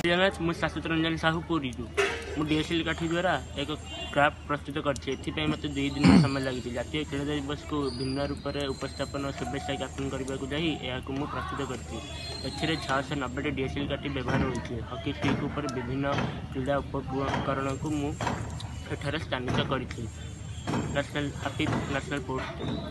ଜଗନ୍ନାଥ, ମୁଁ ଶାଶ୍ୱତ ରଞ୍ଜନ ସାହୁ, ପୁରୀରୁ। ମୁଁ ଡିଏସ୍ଏଲ୍ କାଠି ଦ୍ୱାରା ଏକ କ୍ରାଫ୍ଟ ପ୍ରସ୍ତୁତ କରିଛି। ଏଥିପାଇଁ ମୋତେ 2 ଦିନ ସମୟ ଲାଗିଛି। ଜାତୀୟ ଖେଳ ଦିବସକୁ ଭିନ୍ନ ରୂପରେ ଉପସ୍ଥାପନ ଓ ଶୁଭେଚ୍ଛା ଜ୍ଞାପନ କରିବାକୁ ଯାଇ ଏହାକୁ ମୁଁ ପ୍ରସ୍ତୁତ କରିଛି। ଏଥିରେ 690ଟି ଡିଏସ୍ଏଲ୍ କାଠି ବ୍ୟବହାର ହୋଇଛି। ହକି ଷ୍ଟିକ୍ ଉପରେ ବିଭିନ୍ନ କ୍ରୀଡ଼ା ଉପକରଣକୁ ମୁଁ ଏଠାରେ ସ୍ଥାନିତ କରିଛି। National happy national sports day.